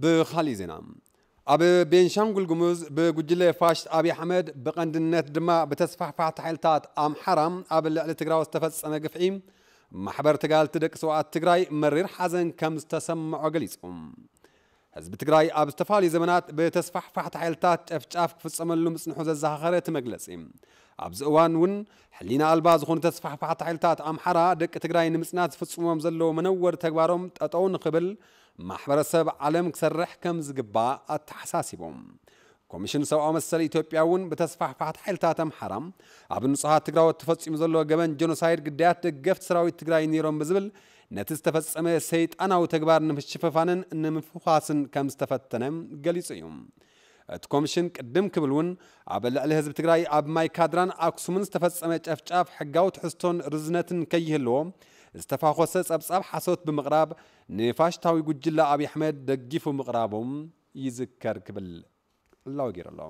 ብኻሊእ ዜና፣ ኣብ ቤንሻንጉል ጉሙዝ ብጉጅለ ፋሽስት ኣብይ ኣሕመድ፣ ብቐንድነት ድማ ብተስፋሕፋሕቲ ሓይልታት ኣምሓራ ኣብ ልዕሊ ትግራዎት ዝተፈጸመ ግፍዒ ማሕበር ተጋልቲ ደቂ ሰውኣት ትግራይ መሪር ሓዘን ከም ዝተሰምዖ ገሊጹ። ህዝቢ ትግራይ ኣብ ዝተፈላለዩ ዘመናት ብተስፋሕፋሕቲ ሓይልታት ጨፍጫፍ ክፍጸመሉ ምጽንሑ ዘዘኻኸረ እቲ መግለጺ፣ ኣብዚ እዋን እውን ሕሊና ኣልባ ዝኾኑ ተስፋሕፋሕቲ ሓይልታት ኣምሓራ ደቂ ትግራይ ንምጽናት ዝፍጽሞም ዘለዉ መነወር ተግባሮም ጠጠው ንኽብል ማሕበረሰብ ዓለም ክሰርሕ ከም ዝግባእ ኣተሓሳሲቦም። ኮሚሽን ሰብኣዊ መሰል ኢትዮጵያ እውን ብተስፋሕፋሕቲ ሓይልታት ኣምሓራ ኣብ ንጹሃት ትግራዎት ተፈጺሙ ዘሎ ገበን ጀኖሳይድ ግዳያት ደገፍቲ ሰራዊት ትግራይ ነይሮም ብዝብል ነቲ ዝተፈጸመ ሰይጣናዊ ተግባር ንምሽፍፋንን ንምፍዃስን ከም ዝተፈተነ ገሊጹ እዩ። እቲ ኮሚሽን ቅድም ክብል እውን ኣብ ልዕሊ ህዝቢ ትግራይ ኣብ ማይ ካድራን ኣክሱምን ዝተፈጸመ ጨፍጫፍ ሕጋዊ ትሕዝቶን ርዝነትን ከይህልዎ ዝተፋኾሰ ጸብጻብ ሓሶት ብምቕራብ ንፋሽስታዊ ጉጅለ ኣብይ ኣሕመድ ደጊፉ ምቕራቦም ይዝከር ክብል ዕላዊ ገይሩ ኣሎ።